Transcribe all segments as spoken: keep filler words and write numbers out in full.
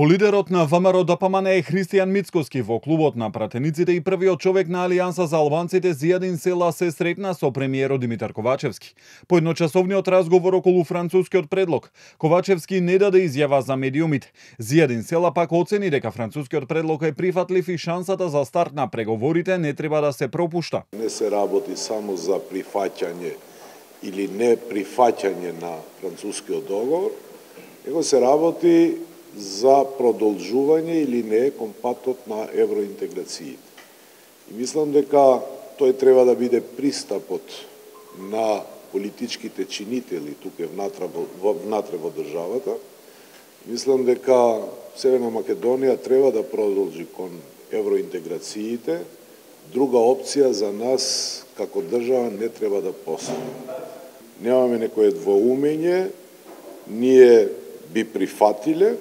По лидерот на ВМРО Д П М Н е Христијан Мицкоски во клубот на пратениците и првиот човек на Алијанса за албанците Зијадин Села се сретна со премиерот Димитар Ковачевски. По едночасовниот разговор околу францускиот предлог, Ковачевски не даде изјава за медиумите. Зијадин Села пак оцени дека францускиот предлог е прифатлив и шансата за старт на преговорите не треба да се пропушта. Не се работи само за прифаќање или не прифаќање на францускиот договор, него се работи за продолжување или не кон патот на евроинтеграциите. И мислам дека тој треба да биде пристапот на политичките чинители тука внатре во, внатре во државата. Мислам дека Северна Македонија треба да продолжи кон евроинтеграциите. Друга опција за нас како држава не треба да постои. Немаме некое двоумење, ние би прифатиле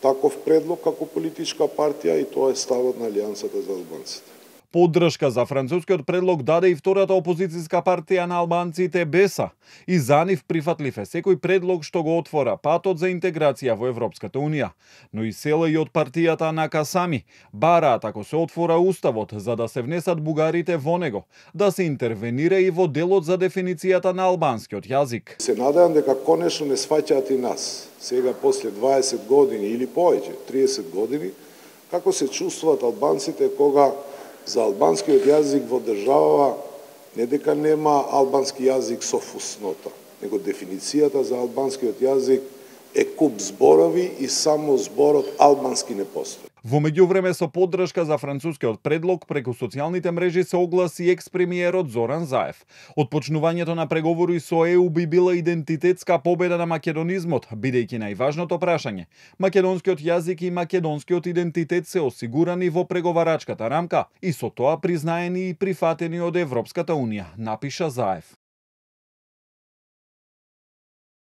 таков предлог како политичка партија и тоа е ставот на Алијансата за албанците. Поддршка за францускиот предлог даде и втората опозицијска партија на албанците Беса. И за нив прифатлив е секој предлог што го отвора патот за интеграција во Европската Унија. Но и Села и од партијата на Касами бараат ако се отвора уставот за да се внесат бугарите во него, да се интервенира и во делот за дефиницијата на албанскиот јазик. Се надевам дека конечно не сваќаат и нас. Сега после дваесет години или повеќе, триесет години, како се чувствуваат албанците кога за албанскиот јазик во држава не дека нема албански јазик со фуснота, него дефиницијата за албанскиот јазик е куп зборови и само зборот албански не постои. Во меѓувреме со поддршка за францускиот предлог преку социјалните мрежи се огласи екс-премиерот Зоран Заев. Отпочнувањето на преговори со Е У би била идентитетска победа на македонизмот, бидејќи најважното прашање, македонскиот јазик и македонскиот идентитет се осигурани во преговарачката рамка и со тоа признаени и прифатени од Европската Унија, напиша Заев.